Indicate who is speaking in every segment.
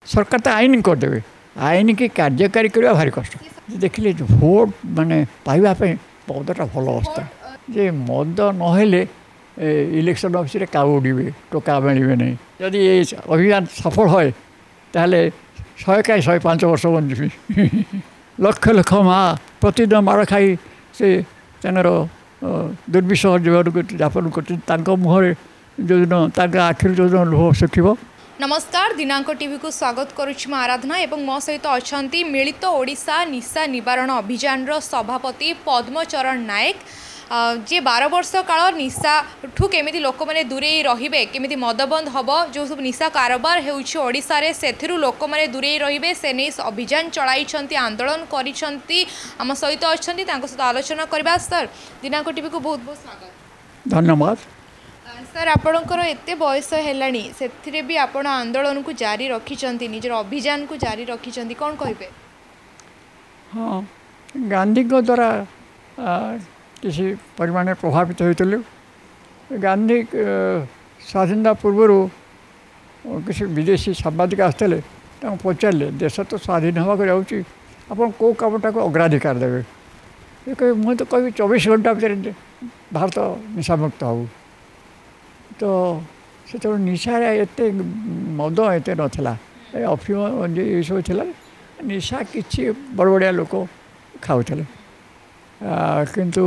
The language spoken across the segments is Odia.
Speaker 1: ସରକାର ତ ଆଇନ କରିଦେବେ, ଆଇନକି କାର୍ଯ୍ୟକାରୀ କରିବା ଭାରି କଷ୍ଟ। ଦେଖିଲେ ଭୋଟ ମାନେ ପାଇବା ପାଇଁ ମଦଟା ଭଲ ଅବସ୍ଥା, ଯେ ମଦ ନହେଲେ ଇଲେକ୍ସନ୍ ଅଫିସରେ କାଉ ଉଡ଼ିବେ, ଟୋକା ମିଳିବେ ନାହିଁ। ଯଦି ଏ ଅଭିଯାନ ସଫଳ ହୁଏ ତାହେଲେ 100 କାହିଁ 105 ବର୍ଷ ବଞ୍ଚିବି। ଲକ୍ଷ ଲକ୍ଷ ମା ପ୍ରତିଦିନ ମାଡ଼ ଖାଇ ସେ ତାଙ୍କର ଦୁର୍ବିସହ ଜୀବନକୁ ଯାପନ କରୁଛନ୍ତି। ତାଙ୍କ ମୁହଁରେ ଯେଉଁଦିନ, ତାଙ୍କ ଆଖିରୁ ଯେଉଁଦିନ ଲୁହ ଶୁଖିବ।
Speaker 2: ନମସ୍କାର, ଦିନାଙ୍କ ଟିଭିକୁ ସ୍ୱାଗତ କରୁଛି ମୁଁ ଆରାଧନା ଏବଂ ମୋ ସହିତ ଅଛନ୍ତି ମିଳିତ ଓଡ଼ିଶା ନିଶା ନିବାରଣ ଅଭିଯାନର ସଭାପତି ପଦ୍ମଚରଣ ନାୟକ, ଯିଏ 12 ବର୍ଷ କାଳ ନିଶାଠୁ କେମିତି ଲୋକମାନେ ଦୂରେଇ ରହିବେ, କେମିତି ମଦ ବନ୍ଦ ହେବ, ଯେଉଁ ସବୁ ନିଶା କାରବାର ହେଉଛି ଓଡ଼ିଶାରେ ସେଥିରୁ ଲୋକମାନେ ଦୂରେଇ ରହିବେ ସେ ନେଇ ଅଭିଯାନ ଚଳାଇଛନ୍ତି, ଆନ୍ଦୋଳନ କରିଛନ୍ତି। ଆମ ସହିତ ଅଛନ୍ତି, ତାଙ୍କ ସହିତ ଆଲୋଚନା କରିବା। ସାର୍, ଦିନାଙ୍କ ଟିଭିକୁ ବହୁତ ବହୁତ ସ୍ୱାଗତ।
Speaker 1: ଧନ୍ୟବାଦ।
Speaker 2: ସାର୍, ଆପଣଙ୍କର ଏତେ ବୟସ ହେଲାଣି, ସେଥିରେ ବି ଆପଣ ଆନ୍ଦୋଳନକୁ ଜାରି ରଖିଛନ୍ତି, ନିଜର ଅଭିଯାନକୁ ଜାରି ରଖିଛନ୍ତି, କ'ଣ କହିବେ?
Speaker 1: ହଁ, ଗାନ୍ଧୀଙ୍କ ଦ୍ୱାରା କିଛି ପରିମାଣରେ ପ୍ରଭାବିତ ହୋଇଥିଲୁ। ଗାନ୍ଧୀ ସ୍ୱାଧୀନତା ପୂର୍ବରୁ କିଛି ବିଦେଶୀ ସାମ୍ବାଦିକ ଆସିଥିଲେ, ତାଙ୍କୁ ପଚାରିଲେ, ଦେଶ ତ ସ୍ୱାଧୀନ ହେବାକୁ ଯାଉଛି, ଆପଣ କେଉଁ କାମଟାକୁ ଅଗ୍ରାଧିକାର ଦେବେ? ସେ କହିବେ, ମୁଁ ତ କହିବି 24 ଘଣ୍ଟା ଭିତରେ ଭାରତ ନିଶାମୁକ୍ତ ହେଉ। ତ ସେତେବେଳେ ନିଶାରେ ଏତେ ମଦ ଏତେ ନଥିଲା, ଏ ଅଫିମ ଏସବୁ ଥିଲା। ନିଶା କିଛି ବଡ଼ ବଡ଼ିଆ ଲୋକ ଖାଉଥିଲେ, କିନ୍ତୁ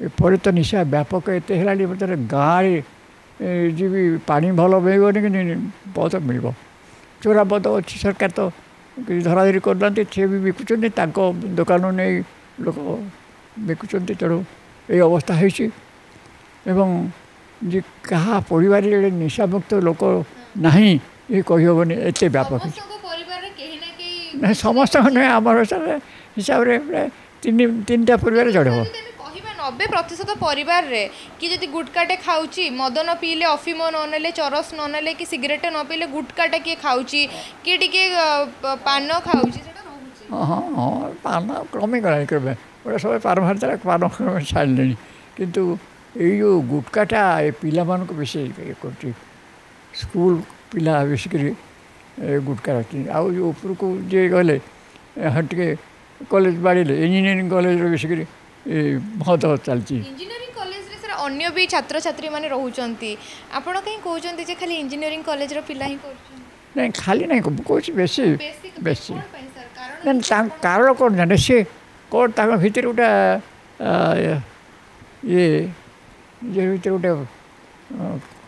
Speaker 1: ଏପରି ତ ନିଶା ବ୍ୟାପକ ଏତେ ହେଲାଣି, ବର୍ତ୍ତମାନ ଗାଁରେ ଯିବି ପାଣି ଭଲ ମିଳିବନି, କିନ୍ତୁ ମଦ ମିଳିବ। ଚୋରା ମଦ ଅଛି, ସରକାର ତ କିଛି ଧରାଧରି କରୁନାହାନ୍ତି, ସିଏ ବି ବିକୁଛନ୍ତି, ତାଙ୍କ ଦୋକାନରୁ ନେଇ ଲୋକ ବିକୁଛନ୍ତି। ତେଣୁ ଏଇ ଅବସ୍ଥା ହେଇଛି। ଏବଂ ଯେ କାହା ପରିବାରରେ ନିଶାମୁକ୍ତ ଲୋକ ନାହିଁ ଏ କହିହେବନି, ଏତେ ବ୍ୟାପକ। ନାଇଁ, ସମସ୍ତଙ୍କ ନୁହେଁ, ଆମର ହିସାବରେ ପ୍ରାୟ 3ଟା ପରିବାର ଜଣେ ହେବ।
Speaker 2: କହିବା 90% ପରିବାରରେ କି ଯଦି ଗୁଟକାଟେ ଖାଉଛି, ମଦ ନ ପିଇଲେ, ଅଫିମ ନ ନେଲେ, ଚରସ ନ ନେଲେ କି ସିଗାରେଟ୍ ନ ପିଇଲେ ଗୁଟକାଟା କିଏ ଖାଉଛି, କିଏ ଟିକେ ପାନ ଖାଉଛି, ସେଟା ରହୁଛି।
Speaker 1: ହଁ ହଁ, ପାନ କମିଗଲାଣି, କ୍ରମେ ଗୋଟେ ସମୟ ପାନ ବାହାରିଥିଲା, ପାନ କ୍ରମେ ଛାଡ଼ିଲେଣି। କିନ୍ତୁ ଏଇ ଯେଉଁ ଗୁଟକାଟା ଏ ପିଲାମାନଙ୍କୁ ବେଶୀ ଇଏ କରୁଛି। ସ୍କୁଲ ପିଲା ବେଶୀକରି ଏ ଗୁଟକା ରଖିଛନ୍ତି। ଆଉ ଯେଉଁ ଉପରକୁ ଯିଏ ଗଲେ ଟିକେ କଲେଜ ବାଡ଼ିଲେ, ଇଞ୍ଜିନିୟରିଂ କଲେଜରେ ବେଶୀକରି ଏ ମଦ ଚାଲିଛି।
Speaker 2: ଇଞ୍ଜିନିୟରିଂ କଲେଜରେ ସାର୍ ଅନ୍ୟ ବି ଛାତ୍ରଛାତ୍ରୀମାନେ ରହୁଛନ୍ତି, ଆପଣ କାହିଁ କହୁଛନ୍ତି ଯେ ଖାଲି ଇଞ୍ଜିନିୟରିଂ କଲେଜର ପିଲା ହିଁ କରୁଛନ୍ତି?
Speaker 1: ନାଇଁ, ଖାଲି ନାଇଁ, ମୁଁ କହୁଛି ବେଶୀ ବେଶୀ। ନାଇଁ, ତାଙ୍କ କାରଣ କ'ଣ ଜାଣେ, ସିଏ କ'ଣ ତାଙ୍କ ଭିତରେ ଗୋଟେ ଇଏ ନିଜ ଭିତରେ ଗୋଟେ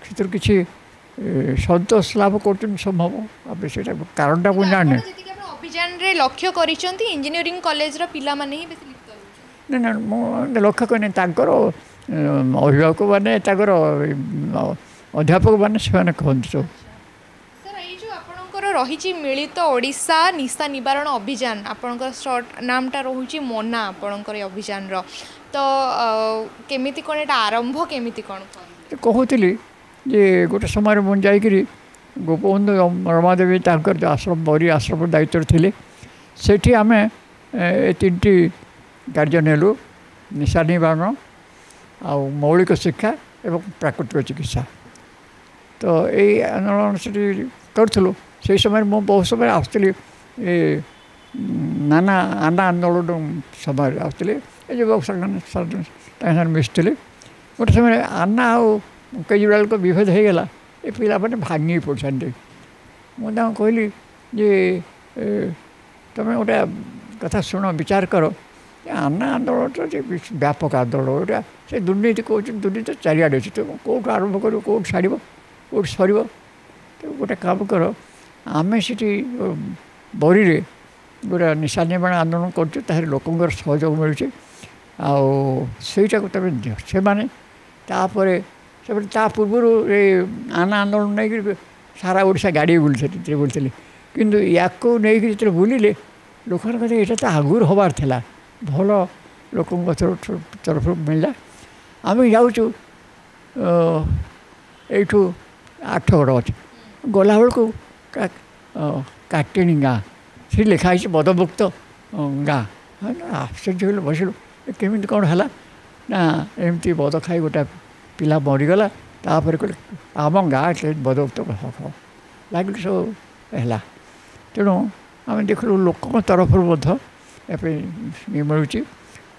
Speaker 1: ସେଥିରୁ କିଛି ସନ୍ତୋଷ ଲାଭ କରୁଛନ୍ତି ସମ୍ଭବ। ଆଉ ସେଇଟା କାରଣଟା ମୁଁ ଜାଣିନି।
Speaker 2: ଅଭିଯାନରେ ଲକ୍ଷ୍ୟ କରିଛନ୍ତି ଇଞ୍ଜିନିୟରିଂ କଲେଜର ପିଲାମାନେ ହିଁ ବେଶୀ ଲିପ୍ତ?
Speaker 1: ନା ନା, ମୁଁ ଲକ୍ଷ୍ୟ କରିନି। ତାଙ୍କର ଅଭିଭାବକମାନେ, ତାଙ୍କର ଅଧ୍ୟାପକମାନେ ସେମାନେ କହନ୍ତି ସବୁ।
Speaker 2: ସାର୍, ଏଇ ଯେଉଁ ଆପଣଙ୍କର ରହିଛି ମିଳିତ ଓଡ଼ିଶା ନିଶା ନିବାରଣ ଅଭିଯାନ, ଆପଣଙ୍କର ସର୍ଟ ନାମଟା ରହୁଛି ମୋନା ଆପଣଙ୍କର ଏ ଅଭିଯାନର, ତ କେମିତି କ'ଣ ଏଇଟା ଆରମ୍ଭ କେମିତି କ'ଣ?
Speaker 1: କହୁଥିଲି ଯେ ଗୋଟେ ସମୟରେ ମୁଁ ଯାଇକରି ଗୋପବନ୍ଧୁ ରମାଦେବୀ ତାଙ୍କର ଯେଉଁ ଆଶ୍ରମ, ବରି ଆଶ୍ରମ ଦାୟିତ୍ୱରେ ଥିଲେ, ସେଠି ଆମେ ଏ 3ଟି କାର୍ଯ୍ୟ ନେଲୁ: ନିଶା ନିବାରଣ, ଆଉ ମୌଳିକ ଶିକ୍ଷା ଏବଂ ପ୍ରାକୃତିକ ଚିକିତ୍ସା। ତ ଏଇ ଆନ୍ଦୋଳନ ସେଠି କରୁଥିଲୁ। ସେଇ ସମୟରେ ମୁଁ ବହୁତ ସମୟରେ ଆସୁଥିଲି, ଏ ନାନା ଆନା ଆନ୍ଦୋଳନ ସମୟରେ ଆସୁଥିଲି, ଏ ଯୁବକ ତାଙ୍କ ସାଙ୍ଗରେ ମିଶୁଥିଲି। ଗୋଟେ ସମୟରେ ଆନ୍ନା ଆଉ କେଜରିୱାଲଙ୍କ ବିଭେଦ ହେଇଗଲା, ଏ ପିଲାମାନେ ଭାଙ୍ଗି ପଡ଼ିଛନ୍ତି। ମୁଁ ତାଙ୍କୁ କହିଲି ଯେ ତୁମେ ଗୋଟେ କଥା ଶୁଣ, ବିଚାର କର, ଆନ୍ନା ଆନ୍ଦୋଳନଟା ଯେ ବ୍ୟାପକ ଆନ୍ଦୋଳନ, ଏଇଟା ସେ ଦୁର୍ନୀତି କହୁଛନ୍ତି, ଦୁର୍ନୀତି ଚାରିଆଡ଼େ ଅଛି, ତୁମେ କେଉଁଠୁ ଆରମ୍ଭ କରିବ, କେଉଁଠୁ ଛାଡ଼ିବ, କେଉଁଠି ସରିବ? ତ ଗୋଟେ କାମ କର, ଆମେ ସେଠି ବରିରେ ଗୋଟେ ନିଶା ନିବାରଣ ଆନ୍ଦୋଳନ କରୁଛୁ, ତାହେଲେ ଲୋକଙ୍କର ସହଯୋଗ ମିଳୁଛି, ଆଉ ସେଇଟାକୁ ତୁମେ ଦିଅ। ସେମାନେ ତାପରେ ସେମାନେ ତା ପୂର୍ବରୁ ଏ ଆନା ଆନ୍ଦୋଳନ ନେଇକରି ସାରା ଓଡ଼ିଶା ଗାଡ଼ି ବୁଲିଥିଲେ ବୁଲିଥିଲେ, କିନ୍ତୁ ୟାକୁ ନେଇକି ଯେତେବେଳେ ବୁଲିଲେ ଲୋକମାନଙ୍କ କଥା ଏଇଟା ତ ଆଗରୁ ହେବାର ଥିଲା, ଭଲ ଲୋକଙ୍କ ତରଫରୁ ମିଳିଲା। ଆମେ ଯାଉଛୁ ଏଇଠୁ ଆଠଗଡ଼ ଅଛି, ଗଲାବେଳକୁ କାଟିଣୀ ଗାଁ, ସେଠି ଲେଖା ହେଇଛି ମଦମୁକ୍ତ ଗାଁ। ଆଶ୍ଚର୍ଯ୍ୟ ହେଲୁ, ବସିଲୁ, କେମିତି କ'ଣ ହେଲା? ନା, ଏମିତି ମଦ ଖାଇ ଗୋଟେ ପିଲା ମରିଗଲା। ତାପରେ କହିଲେ ଆମ ଗାଁ ମଦମୁକ୍ତ ଲାଗିଲୁ ସବୁ। ହେଲା। ତେଣୁ ଆମେ ଦେଖିଲୁ ଲୋକଙ୍କ ତରଫରୁ ମଧ୍ୟ ଏବେ ମିଳୁଛି।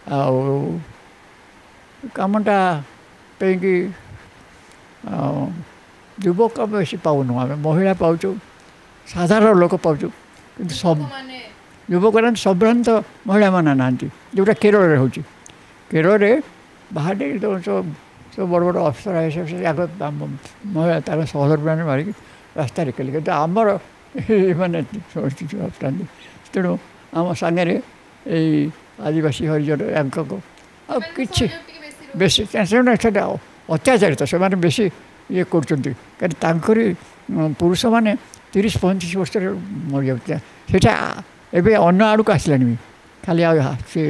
Speaker 1: ଆଉ କାମଟା ପାଇଁକି ଯୁବକ ବେଶୀ ପାଉନୁ, ଆମେ ମହିଳା ପାଉଛୁ, ସାଧାରଣ ଲୋକ ପାଉଛୁ, କିନ୍ତୁ ସବୁ ଯୁବକ ନାହାନ୍ତି, ସମ୍ଭ୍ରାନ୍ତ ମହିଳାମାନେ ନାହାନ୍ତି, ଯେଉଁଟା କେରଳରେ ହେଉଛି। କେରଳରେ ବାହାରେ ସବୁ ବଡ଼ ବଡ଼ ଅଫିସର ଆଗ ମହିଳା ତାଙ୍କ ସହଧର୍ମିଣୀ ମାରିକି ରାସ୍ତାରେ କଲେ, କିନ୍ତୁ ଆମର ଏମାନେ ଆସୁଥାନ୍ତି। ତେଣୁ ଆମ ସାଙ୍ଗରେ ଏଇ ଆଦିବାସୀ ହରିଜନ ୟାଙ୍କ ଆଉ କିଛି ବେଶୀ ସେମାନେ ସେଟା ଅତ୍ୟାଚାରିତ, ସେମାନେ ବେଶୀ ଇଏ କରୁଛନ୍ତି, କାରଣ ତାଙ୍କରି ପୁରୁଷମାନେ 30-35 ବର୍ଷରେ ମରିଯାଉଥିଲେ। ସେଇଟା ଏବେ ଅନ୍ୟ ଆଡ଼କୁ ଆସିଲାଣି ବି, ଖାଲି ଆଉ ସେ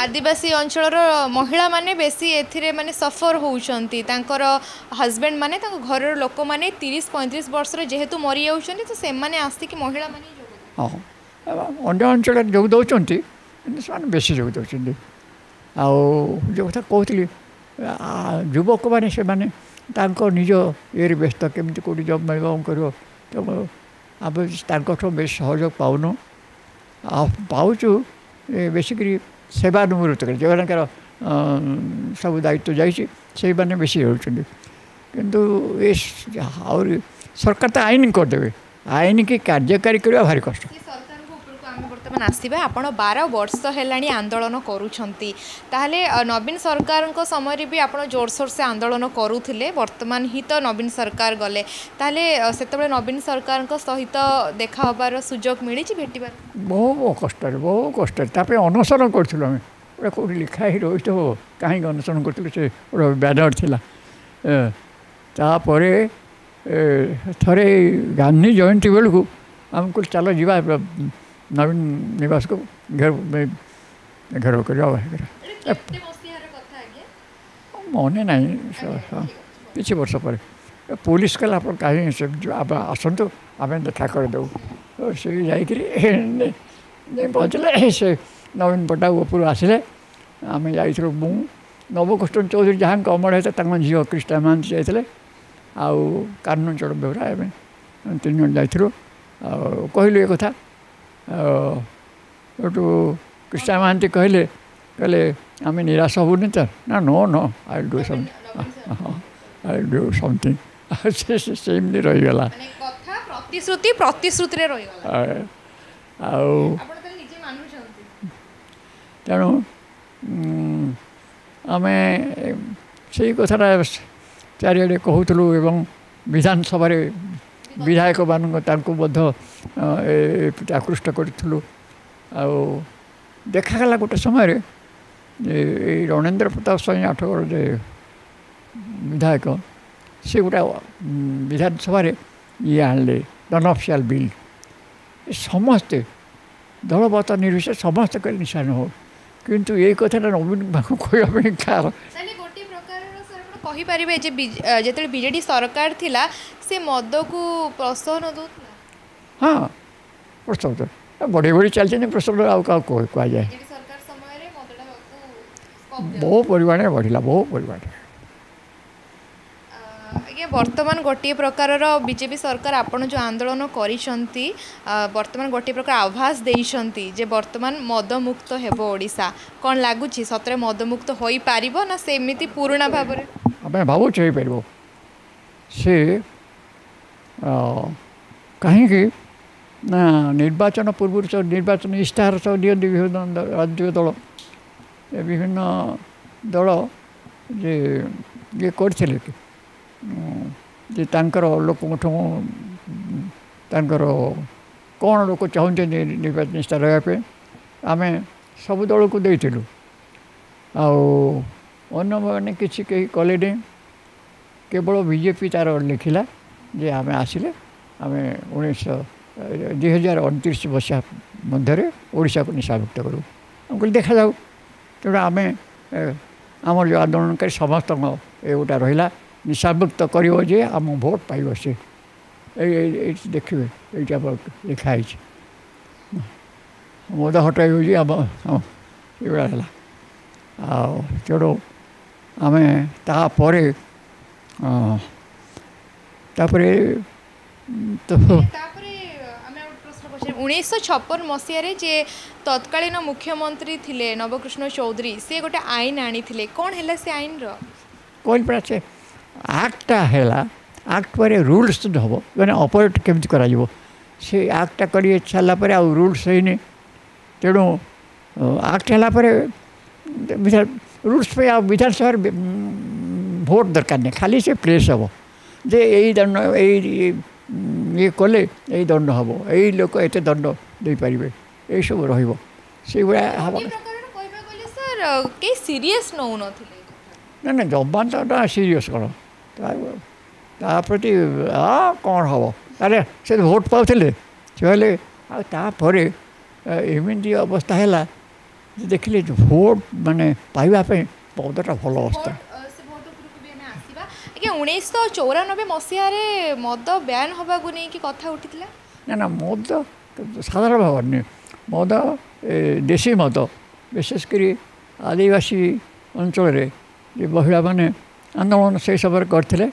Speaker 2: ଆଦିବାସୀ ଅଞ୍ଚଳର ମହିଳାମାନେ ବେଶୀ ଏଥିରେ ମାନେ ସଫର ହେଉଛନ୍ତି। ତାଙ୍କର ହଜବେଣ୍ଡ ମାନେ, ତାଙ୍କ ଘରର ଲୋକମାନେ 30-35 ବର୍ଷରେ ଯେହେତୁ ମରିଯାଉଛନ୍ତି, ତ ସେମାନେ ଆସିକି ମହିଳାମାନେ।
Speaker 1: ହଁ, ଅନ୍ୟ ଅଞ୍ଚଳରେ ଯୋଗ ଦେଉଛନ୍ତି, କିନ୍ତୁ ସେମାନେ ବେଶୀ ଯୋଗ ଦେଉଛନ୍ତି। ଆଉ ଯେଉଁ କଥା କହୁଥିଲି, ଯୁବକମାନେ ସେମାନେ ତାଙ୍କ ନିଜ ଇଏରେ ବ୍ୟସ୍ତ, କେମିତି କେଉଁଠି ଜବ୍ ମିଳିବ କ'ଣ କରିବ। ତେଣୁ ଆମେ ତାଙ୍କଠୁ ବେଶୀ ସହଯୋଗ ପାଉନୁ, ଆଉ ପାଉଛୁ ବେଶୀକରି ସେବାନିବୃତ୍ତ କରି ଯେଉଁମାନଙ୍କର ସବୁ ଦାୟିତ୍ୱ ଯାଇଛି ସେଇମାନେ ବେଶୀ ହେଉଛନ୍ତି। କିନ୍ତୁ ଏ ଆହୁରି ସରକାର ତ ଆଇନ କରିଦେବେ, ଆଇନ କି କାର୍ଯ୍ୟକାରୀ କରିବା ଭାରି କଷ୍ଟ।
Speaker 2: ଆମେ ବର୍ତ୍ତମାନ ଆସିବା, ଆପଣ 12 ବର୍ଷ ହେଲାଣି ଆନ୍ଦୋଳନ କରୁଛନ୍ତି, ତାହେଲେ ନବୀନ ସରକାରଙ୍କ ସମୟରେ ବି ଆପଣ ଜୋରସୋର ସେ ଆନ୍ଦୋଳନ କରୁଥିଲେ, ବର୍ତ୍ତମାନ ହିଁ ତ ନବୀନ ସରକାର ଗଲେ, ତାହେଲେ ସେତେବେଳେ ନବୀନ ସରକାରଙ୍କ ସହିତ ଦେଖା ହେବାର ସୁଯୋଗ ମିଳିଛି, ଭେଟିବାର?
Speaker 1: ବହୁ କଷ୍ଟରେ, ବହୁ କଷ୍ଟରେ। ତା ପାଇଁ ଅନଶନ କରୁଥିଲୁ ଆମେ, ଗୋଟେ କେଉଁଠି ଲେଖା ହେଇ ରହିଥିବ କାହିଁକି ଅନଶନ କରୁଥିଲୁ, ସେ ଗୋଟେ ବ୍ୟାନର ଥିଲା। ତାପରେ ଥରେ ଗାନ୍ଧୀ ଜୟନ୍ତୀ ବେଳକୁ ଆମକୁ ଚାଲ ଯିବା ନବୀନ ନିବାସକୁ ଘେରାଉ କରିବା। ମନେ ନାହିଁ, କିଛି ବର୍ଷ ପରେ ପୋଲିସ କହିଲା ଆପଣ କାହିଁ ଆସନ୍ତୁ, ଆମେ ଦେଖା କରିଦେବୁ। ସେ ଯାଇକରି ପହଞ୍ଚିଲେ, ସେ ନବୀନ ପଟ୍ଟନାୟକ ଉପରୁ ଆସିଲେ, ଆମେ ଯାଇଥିଲୁ, ମୁଁ, ନବକୃଷ୍ଣ ଚୌଧୁରୀ ଯାହାଙ୍କ ଅମଳ ହେଇଥିଲା ତାଙ୍କ ଝିଅ କ୍ରିଷ୍ଣା ମହାନ୍ତି ଯାଇଥିଲେ, ଆଉ କାହ୍ନୁ ଚରଣ ବେହେରା, ଆମେ 3 ଜଣ ଯାଇଥିଲୁ। ଆଉ କହିଲୁ ଏ କଥା। ଏଠୁ କୃଷ୍ଣା ମହାନ୍ତି କହିଲେ, କହିଲେ ଆମେ ନିରାଶ ହେବୁନି ତ? ନା, no no, I do something, I do something. ସେ ସେମିତି ରହିଗଲା,
Speaker 2: ପ୍ରତିଶ୍ରୁତି ପ୍ରତିଶ୍ରୁତିରେ ରହିଗଲା।
Speaker 1: ଆଉ ତେଣୁ ଆମେ ସେଇ କଥାଟା ଚାରିଆଡ଼େ କହୁଥିଲୁ ଏବଂ ବିଧାନସଭାରେ ବିଧାୟକମାନଙ୍କୁ ତାଙ୍କୁ ମଧ୍ୟ ଆକୃଷ୍ଟ କରିଥିଲୁ। ଆଉ ଦେଖାଗଲା ଗୋଟେ ସମୟରେ ଯେ ଏଇ ରଣେନ୍ଦ୍ର ପ୍ରତାପ ସ୍ୱାଇଁ ଆଠଗଡ଼ ଯେ ବିଧାୟକ, ସେ ଗୋଟେ ବିଧାନସଭାରେ ଇଏ ଆଣିଲେ ନନ୍ ଅଫିସିଆଲ୍ ବିଲ୍, ସମସ୍ତେ ଦଳମତ ନିର୍ବିଶେଷ ସମସ୍ତେ କହିଲେ ନିଶା ନ ହଉ, କିନ୍ତୁ ଏଇ କଥାଟା ନବୀନ ପାଖକୁ କହିବା ପାଇଁ କାହାର
Speaker 2: କହିପାରିବେ ଯେ ଯେତେବେଳେ ବିଜେଡି ସରକାର ଥିଲା ସେ ମଦକୁ ପ୍ରୋତ୍ସାହନ ଦେଉଥିଲା?
Speaker 1: ହଁ, ପ୍ରୋତ୍ସାହନ ବଢ଼ି ବଢ଼ି ଚାଲିଛନ୍ତି, ପ୍ରୋତ୍ସାହନ ଆଉ କାହାକୁ କୁହାଯାଏ, ବହୁ ପରିମାଣରେ ବଢ଼ିଲା, ବହୁ ପରିମାଣରେ।
Speaker 2: ଆଜ୍ଞା, ବର୍ତ୍ତମାନ ଗୋଟିଏ ପ୍ରକାରର ବିଜେପି ସରକାର ଆପଣ ଯେଉଁ ଆନ୍ଦୋଳନ କରିଛନ୍ତି, ବର୍ତ୍ତମାନ ଗୋଟିଏ ପ୍ରକାର ଆଭାସ ଦେଇଛନ୍ତି ଯେ ବର୍ତ୍ତମାନ ମଦମୁକ୍ତ ହେବ ଓଡ଼ିଶା, କ'ଣ ଲାଗୁଛି ସତରେ ମଦମୁକ୍ତ ହୋଇପାରିବ ନା ସେମିତି ପୁରୁଣା ଭାବରେ?
Speaker 1: ଆମେ ଭାବୁଛୁ ହେଇପାରିବ। ସେ କାହିଁକି ନା ନିର୍ବାଚନ ପୂର୍ବରୁ ସବୁ ନିର୍ବାଚନ ଇସ୍ତାହାର ସବୁ ଦିଅନ୍ତି ବିଭିନ୍ନ ରାଜନୈତିକ ଦଳ, ବିଭିନ୍ନ ଦଳ ଯେ ଇଏ କରିଥିଲେ ଯେ ତାଙ୍କର ଲୋକଙ୍କଠୁ ତାଙ୍କର କ'ଣ ଲୋକ ଚାହୁଁଛନ୍ତି ନିର୍ବାଚନ ଇସ୍ତାହାର ରହିବା ପାଇଁ, ଆମେ ସବୁ ଦଳକୁ ଦେଇଥିଲୁ। ଆଉ ଅନ୍ୟମାନେ କିଛି କେହି କଲେନି, କେବଳ ବିଜେପି ତା'ର ଲେଖିଲା ଯେ ଆମେ ଆସିଲେ ଆମେ 2029 ମସିହା ମଧ୍ୟରେ ଓଡ଼ିଶାକୁ ନିଶାମୁକ୍ତ କରିବୁ। ଆମେ କହିଲି ଦେଖାଯାଉ। ତେଣୁ ଆମେ ଆମର ଯେଉଁ ଆନ୍ଦୋଳନକାରୀ ସମସ୍ତଙ୍କ ଏ ଗୋଟା ରହିଲା ନିଶାମୁକ୍ତ କରିବ ଯେ ଆମ ଭୋଟ ପାଇବ ସେ। ଏଇ ଏଇଠି ଦେଖିବେ, ଏଇଠି ଆମର ଲେଖା ହେଇଛି ମଦ ହଟାଇବ ଯେ ଆମ ଏଇଭଳିଆ ହେଲା। ଆଉ ତେଣୁ ଆମେ ତାପରେ ତାପରେ ତ
Speaker 2: ତାପରେ ଆମେ ଗୋଟେ ପ୍ରଶ୍ନ ପଚାରିବୁ, 1956 ମସିହାରେ ଯେ ତତ୍କାଳୀନ ମୁଖ୍ୟମନ୍ତ୍ରୀ ଥିଲେ ନବକୃଷ୍ଣ ଚୌଧୁରୀ, ସେ ଗୋଟେ ଆଇନ ଆଣିଥିଲେ, କ'ଣ ହେଲା ସେ ଆଇନର?
Speaker 1: କହିଲି ପରା, ସେ ଆକ୍ଟଟା ହେଲା, ଆକ୍ଟ ପରେ ରୁଲ୍ସ ହେବ, ମାନେ ଅପରେଟ୍ କେମିତି କରାଯିବ। ସେ ଆକ୍ଟଟା କରି ସାରିଲା ପରେ ଆଉ ରୁଲ୍ସ ହେଇନି। ତେଣୁ ଆକ୍ଟ ହେଲା ପରେ ରୁଲ୍ସ ପାଇଁ ଆଉ ବିଧାନସଭାରେ ଭୋଟ ଦରକାର ନାହିଁ, ଖାଲି ସେ ପ୍ଲେସ୍ ହେବ ଯେ ଏଇ ଦଣ୍ଡ, ଏଇ ଇଏ କଲେ ଏଇ ଦଣ୍ଡ ହେବ, ଏଇ ଲୋକ ଏତେ ଦଣ୍ଡ ଦେଇପାରିବେ, ଏଇସବୁ ରହିବ, ସେଇଭଳିଆ ହେବ।
Speaker 2: କହିବାକୁ ଗଲେ ସାର୍, କେହି ସିରିୟସ୍ ନେଉନଥିଲେ।
Speaker 1: ନା ନା, ଜମା ତ ସିରିୟସ୍ କ'ଣ ତା ପ୍ରତି, କ'ଣ ହେବ? ଆରେ ସେ ଭୋଟ ପାଉଥିଲେ, ସେ କହିଲେ। ଆଉ ତାପରେ ଏମିତି ଅବସ୍ଥା ହେଲା ଯେ ଦେଖିଲେ ଭୋଟ ମାନେ ପାଇବା ପାଇଁ ପଦଟା ଭଲ ଅବସ୍ଥା।
Speaker 2: ଆଜ୍ଞା, 1994 ମସିହାରେ ମଦ ବ୍ୟାନ୍ ହେବାକୁ ନେଇକି କଥା ଉଠିଥିଲା।
Speaker 1: ନା ନା, ମଦ ସାଧାରଣ ଭାବରେ ନୁହେଁ, ମଦ ଦେଶୀ ମଦ, ବିଶେଷ କରି ଆଦିବାସୀ ଅଞ୍ଚଳରେ ଯେ ମହିଳାମାନେ ଆନ୍ଦୋଳନ ସେଇ ସମୟରେ କରିଥିଲେ,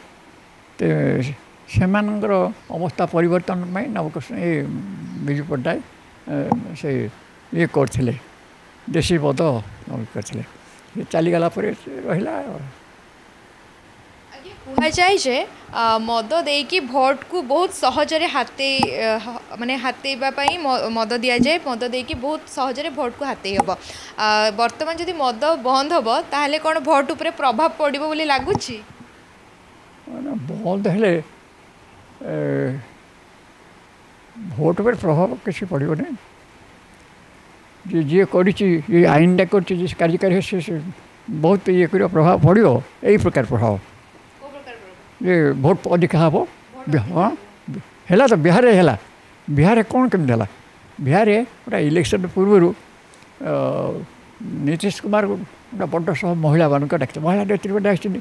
Speaker 1: ସେମାନଙ୍କର ଅବସ୍ଥା ପରିବର୍ତ୍ତନ ପାଇଁ ନବକୃଷ୍ଣ ଏ ବିଜୁ ପଟ୍ଟନାୟକ ସେ ଇଏ କରିଥିଲେ, ଦେଶୀ ମଦ କରିଥିଲେ। ସେ ଚାଲିଗଲା ପରେ ସେ ରହିଲା।
Speaker 2: କୁହାଯାଏ ଯେ ମଦ ଦେଇକି ଭୋଟକୁ ବହୁତ ସହଜରେ ହାତେଇ, ମାନେ ହାତେଇବା ପାଇଁ ମଦ ଦିଆଯାଏ, ମଦ ଦେଇକି ବହୁତ ସହଜରେ ଭୋଟକୁ ହାତେଇ ହେବ। ବର୍ତ୍ତମାନ ଯଦି ମଦ ବନ୍ଦ ହେବ ତାହେଲେ କ'ଣ ଭୋଟ ଉପରେ ପ୍ରଭାବ ପଡ଼ିବ ବୋଲି ଲାଗୁଛି?
Speaker 1: ବନ୍ଦ ହେଲେ ଭୋଟ ଉପରେ ପ୍ରଭାବ କିଛି ପଡ଼ିବନି। ଯେ ଯିଏ କରିଛି, ଏ ଆଇନଟା କରିଛି, ଯିଏ କାର୍ଯ୍ୟକାରୀ ସେ ବହୁତ ଇଏ କରିବ, ପ୍ରଭାବ ପଡ଼ିବ। ଏଇ ପ୍ରକାର ପ୍ରଭାବ ଯେ ଭୋଟ ଅଧିକା ହେବ। ହଁ, ହେଲା ତ, ବିହାରରେ ହେଲା। ବିହାରରେ କ'ଣ କେମିତି ହେଲା? ବିହାରରେ ଗୋଟେ ଇଲେକ୍ସନ୍ ପୂର୍ବରୁ ନୀତିଶ କୁମାର ଗୋଟେ ବଡ଼ ସହ ମହିଳାମାନଙ୍କ ଡାକିଥିଲେ, ମହିଳା ନେତ୍ରୀ ଡାକିଛନ୍ତି।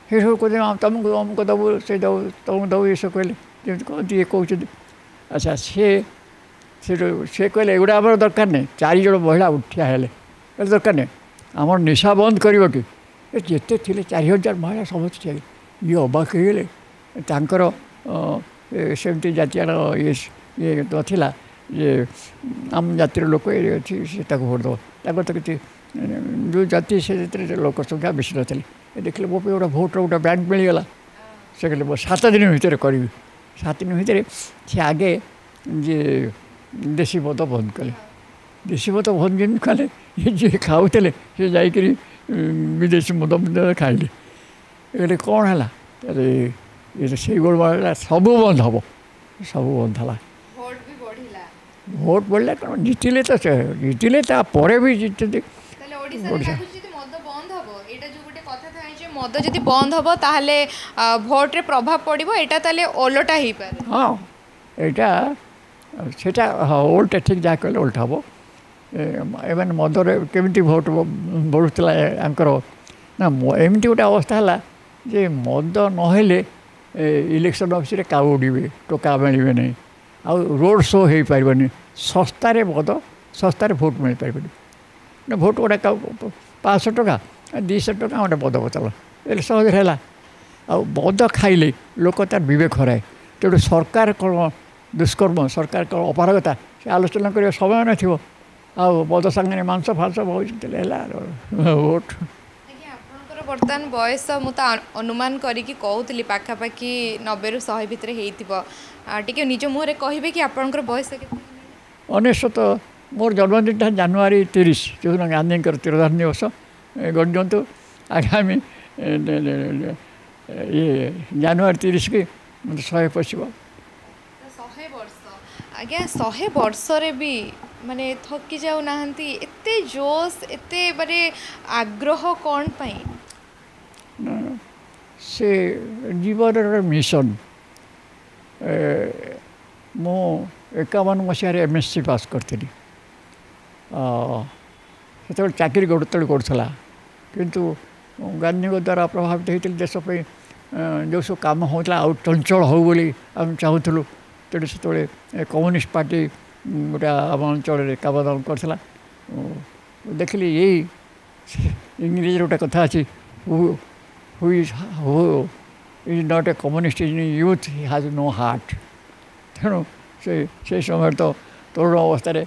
Speaker 1: ସେସବୁ କହୁଛନ୍ତି, ତମକୁ ଅମୁକ ଦେବୁ, ସେ ଦେବୁ, ତମକୁ ଦେବୁ, ଏସବୁ କହିଲେ ଯେମିତି କହନ୍ତି ଇଏ କହୁଛନ୍ତି। ଆଚ୍ଛା, ସିଏ ସେଠୁ ସେ କହିଲେ ଏଗୁଡ଼ା ଆମର ଦରକାର ନାହିଁ। 4 ଜଣ ମହିଳା ଉଠିଆ ହେଲେ, କହିଲେ ଦରକାର ନାହିଁ, ଆମର ନିଶା ବନ୍ଦ କରିବ କି? ଏ ଯେତେ ଥିଲେ 4000 ମହିଳା ସମସ୍ତେ ଠିଆ। ଇଏ ଅବାକ ହେଇଗଲେ। ତାଙ୍କର ସେମିତି ଜାତିଆଣ ଇଏ ଇଏ ନଥିଲା ଯେ ଆମ ଜାତିର ଲୋକ ଇଏ ଅଛି ସେ ତାକୁ ଭୋଟ ଦେବ। ତାଙ୍କର ତ କିଛି ଯେଉଁ ଜାତି ସେ ସେଥିରେ ଲୋକ ସଂଖ୍ୟା ବେଶୀ ନଥିଲେ। ଏ ଦେଖିଲେ ମୋ ପାଇଁ ଗୋଟେ ଭୋଟର ଗୋଟେ ବ୍ୟାଙ୍କ ମିଳିଗଲା। ସେ କହିଲେ ମୁଁ 7 ଦିନ ଭିତରେ କରିବି। 7 ଦିନ ଭିତରେ ସେ ଆଗେ ଯେ ଦେଶୀ ମଦ ବନ୍ଦ କଲେ। ଦେଶୀ ମଦ ବନ୍ଦ ଯେମିତି କଲେ, ଯିଏ ଖାଉଥିଲେ ସେ ଯାଇକରି ବିଦେଶୀ ମଦ ଖାଇଲେ। କହିଲେ କ'ଣ ହେଲା? ଇଏ ସେଇ ଗୋଳମାଳ ହେଲା, ସବୁ ବନ୍ଦ ହେବ, ସବୁ ବନ୍ଦ ହେଲା। ଭୋଟ ବଢ଼ିଲା, କ'ଣ ଜିତିଲେ ତ, ସେ ଜିତିଲେ, ତାପରେ ବି ଜିତିଛନ୍ତି।
Speaker 2: ଓଡ଼ିଶା ମଦ ଯଦି ବନ୍ଦ ହେବ ତାହେଲେ ଭୋଟରେ ପ୍ରଭାବ ପଡ଼ିବ, ଏଇଟା ତାହେଲେ ଓଲଟା ହେଇପାରେ?
Speaker 1: ହଁ, ଏଇଟା ସେଇଟା, ହଁ, ଓଲଟା, ଠିକ୍ ଯାହା କହିଲେ, ଓଲଟା ହେବ। ଏମାନେ ମଦରେ କେମିତି ଭୋଟ ବଢ଼ୁଥିଲା ୟାଙ୍କର ନା, ଏମିତି ଗୋଟେ ଅବସ୍ଥା ହେଲା ଯେ ମଦ ନହେଲେ ଇଲେକ୍ସନ୍ ଅଫିସରେ କାଉ ଉଡ଼ିବେ, ଟୋକା ମିଳିବେ ନାହିଁ, ଆଉ ରୋଡ଼ ଶୋ ହେଇପାରିବନି। ଶସ୍ତାରେ ମଦ, ଶସ୍ତାରେ ଭୋଟ ମିଳିପାରିବନି ନା। ଭୋଟ ଗୋଟେ 500 ଟଙ୍କା, 200 ଟଙ୍କା ଗୋଟେ ମଦ ବୋତଲ ହେଲେ ସହଜରେ ହେଲା। ଆଉ ମଦ ଖାଇଲେ ଲୋକ ତାର ବିବେକ ହରାଏ। ତେଣୁ ସରକାର କ'ଣ ଦୁଷ୍କର୍ମ, ସରକାର କ'ଣ ଅପାରଗତା, ସେ ଆଲୋଚନା କରିବା ସମୟ ନଥିବ। ଆଉ ମଦ ସାଙ୍ଗରେ ମାଂସ ଫାଂସ ବହୁତ ହେଲା ଭୋଟ।
Speaker 2: ଆପଣଙ୍କର ବର୍ତ୍ତମାନ ବୟସ ମୁଁ ତ ଅନୁମାନ କରିକି କହୁଥିଲି ପାଖାପାଖି 90ରୁ 100 ଭିତରେ ହେଇଥିବ। ଟିକେ ନିଜ ମୁହଁରେ କହିବେ କି ଆପଣଙ୍କର ବୟସ କେତେ?
Speaker 1: 99। ମୋର ଜନ୍ମଦିନଟା ଜାନୁଆରୀ 30, ଯେଉଁଦିନ ଗାନ୍ଧୀଙ୍କର ତିରୋଧାନ ଦିବସ। ଗଣିଦିଅନ୍ତୁ, ଆଗାମୀ ଇଏ ଜାନୁଆରୀ 30କି ମୋତେ 100 ପଶିବ।
Speaker 2: 100 ବର୍ଷ ଆଜ୍ଞା, 100 ବର୍ଷରେ ବି ମାନେ ଥକି ଯାଉନାହାନ୍ତି, ଏତେ ଜୋସ୍, ଏତେ ମାନେ ଆଗ୍ରହ କ'ଣ ପାଇଁ?
Speaker 1: ସେ ଜୀବନର ମିଶନ। ମୁଁ 51 ମସିହାରେ ଏମ୍.ଏସ୍.ସି ପାସ୍ କରିଥିଲି। ସେତେବେଳେ ଚାକିରି ଯେତେବେଳେ କରୁଥିଲା, କିନ୍ତୁ ଗାନ୍ଧୀଙ୍କ ଦ୍ୱାରା ପ୍ରଭାବିତ ହେଇଥିଲି। ଦେଶ ପାଇଁ ଯେଉଁ ସବୁ କାମ ହେଉଥିଲା ଆଉ ଚଞ୍ଚଳ ହେଉ ବୋଲି ଆମେ ଚାହୁଁଥିଲୁ। ତେଣୁ ସେତେବେଳେ କମ୍ୟୁନିଷ୍ଟ ପାର୍ଟି ଗୋଟେ ଆମ ଅଞ୍ଚଳରେ କାମ ଦାମ କରିଥିଲା। ଦେଖିଲି, ଏଇ ଇଂରେଜୀରେ ଗୋଟେ କଥା ଅଛି, who is not a communist in youth has no heart. ତେଣୁ ସେ ସେଇ ସମୟରେ ତ ତରୁଣ ଅବସ୍ଥାରେ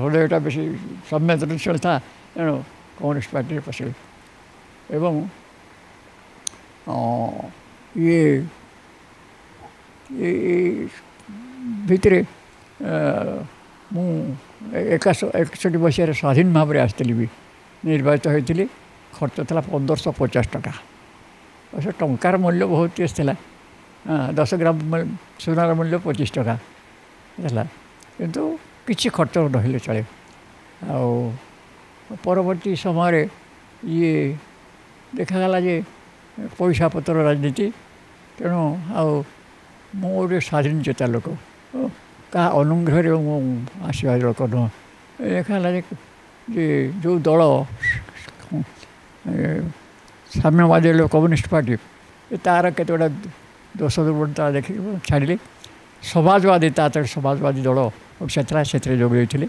Speaker 1: ହୃଦୟଟା ବେଶୀ ସମ୍ବେଦନଶୀଳ ଥା, ତେଣୁ କମ୍ୟୁନିଷ୍ଟ ପାର୍ଟିରେ ପଶିଲି। ଏବଂ ଇଏ ଭିତରେ ମୁଁ 61 ମସିହାରେ ସ୍ୱାଧୀନ ଭାବରେ ଆସିଥିଲି ବି, ନିର୍ବାଚିତ ହୋଇଥିଲି। ଖର୍ଚ୍ଚ ଥିଲା 1550 ଟଙ୍କା। ଅବଶ୍ୟ ଟଙ୍କାର ମୂଲ୍ୟ ବହୁତ ଆସିଥିଲା, 10 ଗ୍ରାମ ସୁନାର ମୂଲ୍ୟ 25 ଟଙ୍କା ହେଲା, କିନ୍ତୁ କିଛି ଖର୍ଚ୍ଚ ନହେଲେ ଚଳେ। ଆଉ ପରବର୍ତ୍ତୀ ସମୟରେ ଇଏ ଦେଖାଗଲା ଯେ ପଇସା ପତ୍ର ରାଜନୀତି, ତେଣୁ ଆଉ ମୁଁ ଗୋଟେ ସ୍ୱାଧୀନ ଚେତା ଲୋକ, କାହା ଅନୁଗ୍ରହରେ ମୁଁ ଆସିବା ଲୋକ ନୁହଁ। ଦେଖାଗଲା ଯେ ଯେଉଁ ଦଳ ସାମ୍ୟବାଦୀ କମ୍ୟୁନିଷ୍ଟ ପାର୍ଟି, ତା'ର କେତେ ଗୁଡ଼ା ଦୋଷ ଦୁର୍ବଳତା ଦେଖିକି ମୁଁ ଛାଡ଼ିଲି। ସମାଜବାଦୀ, ତା ସମାଜବାଦୀ ଦଳ ଓଡ଼ିଶା ଥିଲା, ସେଥିରେ ଯୋଗ ଦେଇଥିଲି,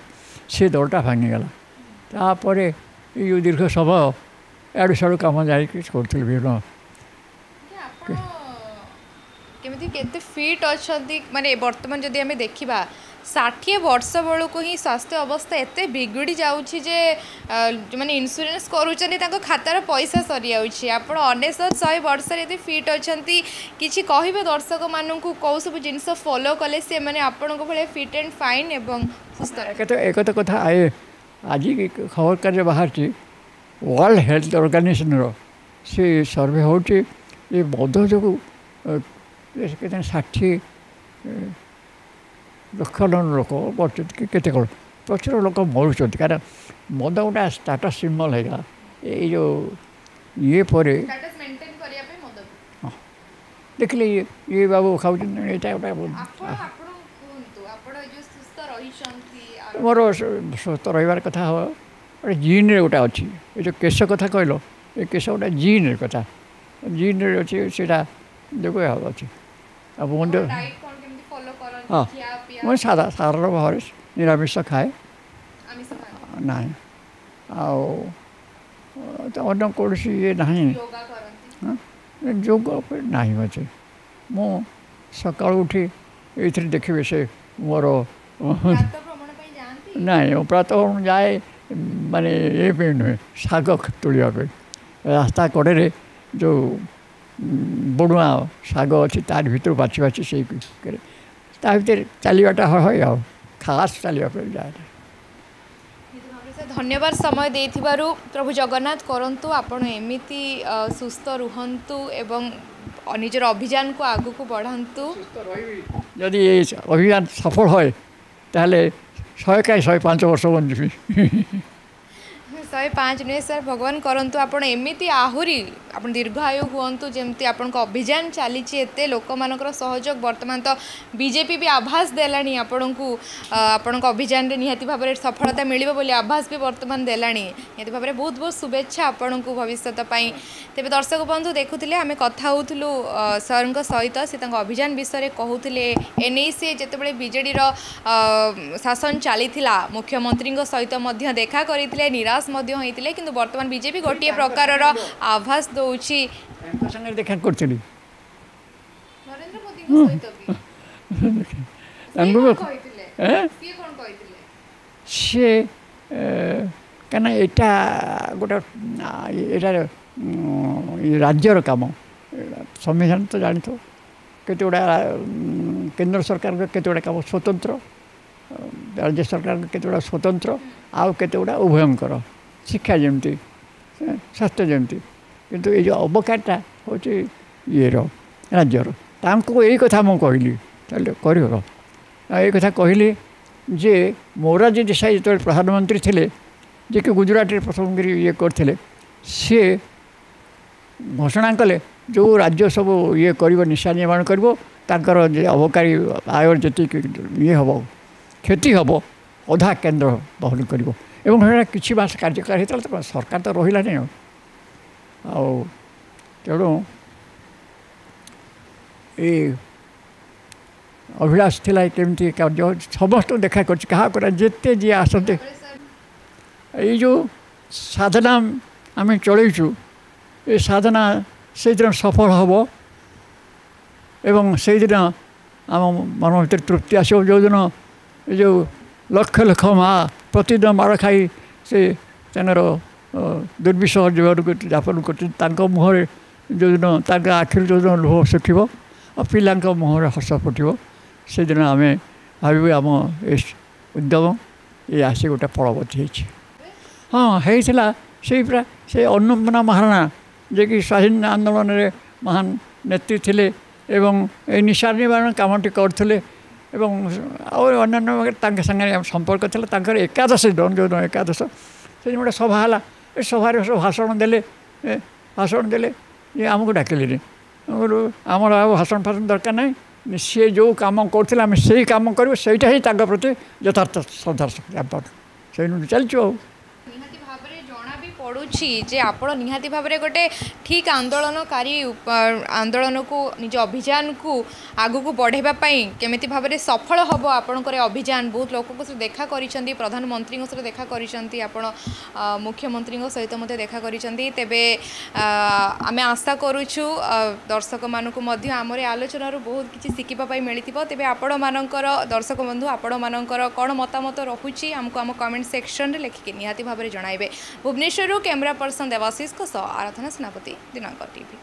Speaker 1: ସେ ଦଳଟା ଭାଙ୍ଗିଗଲା। ତାପରେ ଏଇ ଯେଉଁ ଦୀର୍ଘ ସମୟ ଏଆଡ଼ୁ ସିଆଡ଼ୁ କାମ ଯାଇକି କରୁଥିଲି ବିଭିନ୍ନ।
Speaker 2: କେମିତି କେତେ ଫିଟ୍ ଅଛନ୍ତି ମାନେ ବର୍ତ୍ତମାନ ଯଦି ଆମେ ଦେଖିବା 60 ବର୍ଷ ବେଳକୁ ହିଁ ସ୍ୱାସ୍ଥ୍ୟ ଅବସ୍ଥା ଏତେ ବିଗିଡ଼ି ଯାଉଛି ଯେ ଯେଉଁମାନେ ଇନ୍ସୁରାନ୍ସ କରୁଛନ୍ତି ତାଙ୍କ ଖାତାର ପଇସା ସରିଯାଉଛି। ଆପଣ 99 100 ବର୍ଷରେ ଏତେ ଫିଟ୍ ଅଛନ୍ତି, କିଛି କହିବେ ଦର୍ଶକମାନଙ୍କୁ କେଉଁ ସବୁ ଜିନିଷ ଫଲୋ କଲେ ସେମାନେ ଆପଣଙ୍କ ଭଳିଆ ଫିଟ୍ ଆଣ୍ଡ ଫାଇନ୍ ଏବଂ ସୁସ୍ଥ?
Speaker 1: ଏକ ତ କଥା ଆଜି ଖବର କାର୍ଯ୍ୟ ବାହାରିଛି ୱାର୍ଲଡ ହେଲ୍ଥ ଅର୍ଗାନାଇଜେସନର, ସେ ସର୍ଭେ ହେଉଛି ଯେ ମଦ ଯୋଗୁଁ କେତେ 60 ଲକ୍ଷ ଲୋକ ମରୁଛନ୍ତି କି କେତେ କ'ଣ ପ୍ରଚୁର ଲୋକ ମରୁଛନ୍ତି। କାରଣ ମଦ ଗୋଟେ ଷ୍ଟାଟସ୍ ସିମ୍ବଲ୍ ହେଇଗଲା ଏଇ ଯେଉଁ ଇଏ ପରେ। ହଁ, ଦେଖିଲେ ଇଏ ବାବୁ ଖାଉଛନ୍ତି, ଏଇଟା ଗୋଟେ ମୋର ସୁସ୍ଥ ରହିବାର କଥା ହେବ। ଗୋଟେ ଜିନ୍ରେ ଗୋଟେ ଅଛି, ଏ ଯେଉଁ କେଶ କଥା କହିଲ, ଏ କେଶ ଗୋଟେ ଜିନ୍ର କଥା, ଜିନ୍ରେ ଅଛି, ସେଇଟା ଯୋଗୁଁ ଅଛି। ଆଉ ମୁଁ ହଁ, ମୁଁ ସାଧା ସାଧାରଣ ଭାବରେ ନିରାମିଷ ଖାଏ ନାହିଁ, ଆଉ ତ ଅନ୍ୟ କୌଣସି ଇଏ ନାହିଁ, ଯୋଗ ନାହିଁ ଅଛି। ମୁଁ ସକାଳୁ ଉଠି ଏଇଥିରେ ଦେଖିବେ ସେ ମୋର ନାଇଁ, ମୁଁ ପ୍ରାତଃ ଯାଏ ମାନେ ଏ ପାଇଁ ନୁହେଁ, ଶାଗ ତୋଳିବା ପାଇଁ। ରାସ୍ତା କଡ଼ରେ ଯେଉଁ ବଣୁଆ ଶାଗ ଅଛି ତାରି ଭିତରୁ ବାଛି ବାଛି ସେଇ ତା ଭିତରେ ଚାଲିବାଟା হয়, ଆଉ ଖାସ୍ ଚାଲିବା ପାଇଁ ଯାଏ।
Speaker 2: ଧନ୍ୟବାଦ ସମୟ ଦେଇଥିବାରୁ। ପ୍ରଭୁ ଜଗନ୍ନାଥ କରନ୍ତୁ ଆପଣ ଏମିତି ସୁସ୍ଥ ରୁହନ୍ତୁ ଏବଂ ନିଜର ଅଭିଯାନକୁ ଆଗକୁ ବଢ଼ାନ୍ତୁ।
Speaker 1: ଯଦି ଏ ଅଭିଯାନ ସଫଳ ହୁଏ ତାହେଲେ 100 କାହିଁ 105 ବର୍ଷ ବଞ୍ଚିବି।
Speaker 2: 105 ନୁହେଁ ସାର୍, ଭଗବାନ କରନ୍ତୁ ଆପଣ ଏମିତି ଆହୁରି ଆପଣ ଦୀର୍ଘାୟୁ ହୁଅନ୍ତୁ। ଯେମିତି ଆପଣଙ୍କ ଅଭିଯାନ ଚାଲିଛି, ଏତେ ଲୋକମାନଙ୍କର ସହଯୋଗ, ବର୍ତ୍ତମାନ ତ ବିଜେପି ବି ଆଭାସ ଦେଲାଣି ଆପଣଙ୍କୁ, ଆପଣଙ୍କ ଅଭିଯାନରେ ନିହାତି ଭାବରେ ସଫଳତା ମିଳିବ ବୋଲି ଆଭାସ ବି ବର୍ତ୍ତମାନ ଦେଲାଣି। ନିହାତି ଭାବରେ ବହୁତ ବହୁତ ଶୁଭେଚ୍ଛା ଆପଣଙ୍କୁ ଭବିଷ୍ୟତ ପାଇଁ। ତେବେ ଦର୍ଶକ ବନ୍ଧୁ ଦେଖୁଥିଲେ, ଆମେ କଥା ହେଉଥିଲୁ ସାର୍ଙ୍କ ସହିତ, ସେ ତାଙ୍କ ଅଭିଯାନ ବିଷୟରେ କହୁଥିଲେ। ଏନେଇ ସେ ଯେତେବେଳେ ବିଜେଡ଼ିର ଶାସନ ଚାଲିଥିଲା ମୁଖ୍ୟମନ୍ତ୍ରୀଙ୍କ ସହିତ ମଧ୍ୟ ଦେଖା କରିଥିଲେ, ନିରାଶ ମଧ୍ୟ ହୋଇଥିଲେ, କିନ୍ତୁ ବର୍ତ୍ତମାନ ବିଜେପି ଗୋଟିଏ ପ୍ରକାରର ଆଭାସ ଦେଉଛି।
Speaker 1: ସାଙ୍ଗରେ ଦେଖା କରିଥିଲି
Speaker 2: ନରେନ୍ଦ୍ର ମୋଦିଙ୍କ ସହିତ ବି।
Speaker 1: ସିଏ କାହିଁକିନା ଏଇଟା ଗୋଟେ ଏଇଟା ରାଜ୍ୟର କାମ, ସମ୍ବିଧାନ ତ ଜାଣିଥିବ କେତେ ଗୁଡ଼ା କେନ୍ଦ୍ର ସରକାରଙ୍କ କେତେ ଗୁଡ଼ା କାମ ସ୍ୱତନ୍ତ୍ର, ରାଜ୍ୟ ସରକାରଙ୍କ କେତେ ଗୁଡ଼ା ସ୍ୱତନ୍ତ୍ର, ଆଉ କେତେ ଗୁଡ଼ା ଉଭୟଙ୍କର, ଶିକ୍ଷା ଯେମିତି, ସ୍ୱାସ୍ଥ୍ୟ ଯେମିତି, କିନ୍ତୁ ଏଇ ଯେଉଁ ଅବକାରୀଟା ହେଉଛି ଇଏର ରାଜ୍ୟର। ତାଙ୍କୁ ଏଇ କଥା ମୁଁ କହିଲି, ତାହେଲେ କରିବ ଏଇ କଥା କହିଲି ଯେ ମୋରାରଜୀ ଦେଶାଇ ଯେତେବେଳେ ପ୍ରଧାନମନ୍ତ୍ରୀ ଥିଲେ, ଯିଏକି ଗୁଜୁରାଟରେ ପ୍ରଥମ କରି ଇଏ କରିଥିଲେ, ସିଏ ଘୋଷଣା କଲେ ଯେଉଁ ରାଜ୍ୟ ସବୁ ଇଏ କରିବ, ନିଶା ନିର୍ମାଣ କରିବ, ତାଙ୍କର ଯେ ଅବକାରୀ ଆୟ ଯେତିକି ଇଏ ହେବ, କ୍ଷତି ହେବ, ଅଧା କେନ୍ଦ୍ର ବହନ କରିବ। ଏବଂ ସେଇଟା କିଛି ମାସ କାର୍ଯ୍ୟକାରୀ ହେଇଥିଲା, ତ ସରକାର ତ ରହିଲାନି ଆଉ। ଆଉ ତେଣୁ ଏଇ ଅଭିଳାଷ ଥିଲା କେମିତି କାର୍ଯ୍ୟ ସମସ୍ତଙ୍କୁ ଦେଖା କରିଛି, କାହାକୁ ଯେତେ ଯିଏ ଆସନ୍ତି। ଏଇ ଯେଉଁ ସାଧନା ଆମେ ଚଳେଇଛୁ, ଏ ସାଧନା ସେଇଦିନ ସଫଳ ହେବ ଏବଂ ସେଇଦିନ ଆମ ମନ ଭିତରେ ତୃପ୍ତି ଆସିବ ଯେଉଁଦିନ ଏ ଯେଉଁ ଲକ୍ଷ ଲକ୍ଷ ମା ପ୍ରତିଦିନ ମାଡ଼ ଖାଇ ସେ ତାଙ୍କର ଦୁର୍ବିସହ ଜୀବନକୁ ଯାପନ କରୁଛନ୍ତି, ତାଙ୍କ ମୁହଁରେ ଯେଉଁଦିନ, ତାଙ୍କ ଆଖିରୁ ଯେଉଁଦିନ ଲୁହ ଶୁଖିବ ଆଉ ପିଲାଙ୍କ ମୁହଁରେ ହସ ଫୁଟିବ, ସେଦିନ ଆମେ ଭାବିବୁ ଆମ ଏ ଉଦ୍ୟମ ଏ ଆସି ଗୋଟେ ଫଳବତୀ ହେଇଛି। ହଁ, ହେଇଥିଲା। ସେଇ ପୁରା ସେ ଅନ୍ନପୂର୍ଣ୍ଣା ମହାରଣା, ଯିଏକି ସ୍ୱାଧୀନ ଆନ୍ଦୋଳନରେ ମହାନ ନେତ୍ରୀ ଥିଲେ ଏବଂ ଏ ନିଶା ନିବାରଣ କାମଟି କରୁଥିଲେ ଏବଂ ଆଉ ଅନ୍ୟାନ୍ୟ ତାଙ୍କ ସାଙ୍ଗରେ ସମ୍ପର୍କ ଥିଲା। ତାଙ୍କର ଏକାଦଶ ଦିନ, ଯେଉଁଦିନ ଏକାଦଶ, ସେଦିନ ଗୋଟେ ସଭା ହେଲା। ଏ ସଭାରେ ସବୁ ଭାଷଣ ଦେଲେ, ଭାଷଣ ଦେଲେ ଯେ ଆମକୁ ଡାକିଲେନି। ଆମର ଆଉ ଭାଷଣ ଫାଷଣ ଦରକାର ନାହିଁ, ସିଏ ଯେଉଁ କାମ କରୁଥିଲେ ଆମେ ସେଇ କାମ କରିବୁ, ସେଇଟା ହିଁ ତାଙ୍କ ପ୍ରତି ଯଥାର୍ଥ ଶ୍ରଦ୍ଧା ସେଇ ଚାଲିଛୁ। ଆଉ
Speaker 2: ନିହାତି ଭାବରେ ଜଣା ବି ପଡ଼ୁଛି ଯେ ଆପଣ ନିହାତି ଭାବରେ ଗୋଟେ ଠିକ୍ ଆନ୍ଦୋଳନକାରୀ, ଆନ୍ଦୋଳନକୁ ନିଜ ଅଭିଯାନକୁ ଆଗକୁ ବଢ଼ାଇବା ପାଇଁ କେମିତି ଭାବରେ ସଫଳ ହେବ ଆପଣଙ୍କର ଏ ଅଭିଯାନ। ବହୁତ ଲୋକଙ୍କ ସହିତ ଦେଖା କରିଛନ୍ତି, ପ୍ରଧାନମନ୍ତ୍ରୀଙ୍କ ସହିତ ଦେଖା କରିଛନ୍ତି ଆପଣ, ମୁଖ୍ୟମନ୍ତ୍ରୀଙ୍କ ସହିତ ମଧ୍ୟ ଦେଖା କରିଛନ୍ତି। ତେବେ ଆମେ ଆଶା କରୁଛୁ ଦର୍ଶକମାନଙ୍କୁ ମଧ୍ୟ ଆମର ଏ ଆଲୋଚନାରୁ ବହୁତ କିଛି ଶିଖିବା ପାଇଁ ମିଳିଥିବ। ତେବେ ଆପଣମାନଙ୍କର, ଦର୍ଶକ ବନ୍ଧୁ, ଆପଣମାନଙ୍କର କ'ଣ ମତାମତ ରହୁଛି ଆମକୁ ଆମ କମେଣ୍ଟ ସେକ୍ସନରେ ଲେଖିକି ନିହାତି ଭାବରେ ଜଣାଇବେ। ଭୁବନେଶ୍ୱରରୁ କ୍ୟାମେରା ପର୍ସନ ଦେବାଶିଷଙ୍କ ସହ ଆରାଧନା ସେନାପତି, ଦିନାଙ୍କ ଟିଭି।